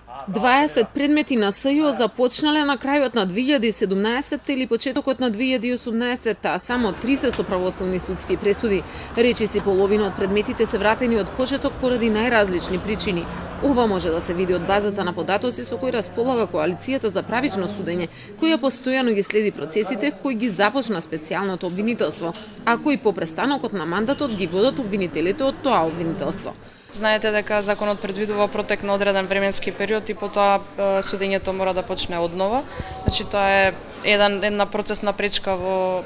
20 предмети на СЈО започнале на крајот на 2017 или почетокот на 2018, а само 30 со правосудни судски пресуди. Речиси половина од предметите се вратени од почеток поради најразлични причини. Ова може да се види од базата на податоци со кои располага Коалицијата за правично судење, која постојано ги следи процесите кои ги започна специјалното обвинителство, а кои по престанокот на мандатот ги водат обвинителите од тоа обвинителство. Знаете дека законот предвидува протек на одреден временски период и потоа судењето мора да почне однова. Значи тоа е една процесна пречка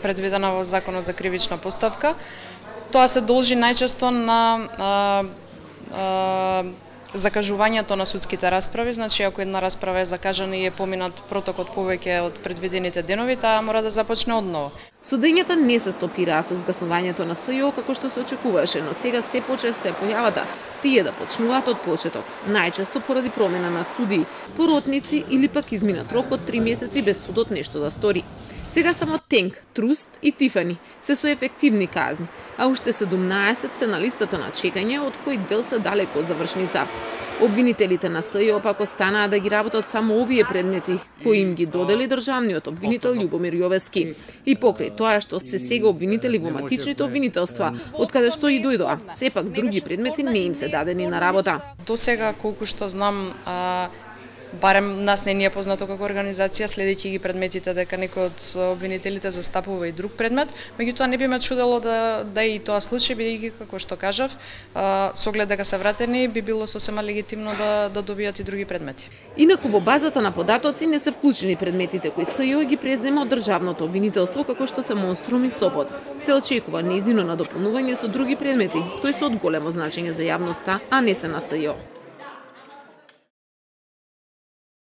предвидена во Законот за кривична постапка. Тоа се должи најчесто на закажувањето на судските расправи, значи ако една расправа е закажана и е поминат протокот повеќе од предвидените денови, таа мора да започне одново. Судењата не се стопираа со згаснувањето на СЈО како што се очекуваше, но сега се почесто е појавата тие да почнуваат од почеток, најчесто поради промена на судии, поротници или пак изминат рок од 3 месеци без судот нешто да стори. Сега само Тенк, Труст и Тифани се со ефективни казни, а уште 17 се на листата на чекање, од кои дел се далеко од завршница. Обвинителите на СЈО пак останаа да ги работат само овие предмети, кои им ги додели државниот обвинител Љубомир Јовески. И покрај тоа што се сега обвинители во матичните обвинителства, од каде што и дојдоа, сепак други предмети не им се дадени на работа. До сега, колку што знам, барем нас не ни е познато како организација, следејќи ги предметите, дека некој од обвинителите застапува и друг предмет, меѓутоа не би ме чудело да е и тоа случај, бидејќи како што кажав, со оглед дека се вратени, би било сосема легитимно да добијат и други предмети. Инаку во базата на податоци не се вклучени предметите кои СЈО ги презема од државното обвинителство, како што се Монструм и Сопот. Се очекува нејзино надополнување со други предмети, кои се од големо значење за јавноста, а не се на СЈО.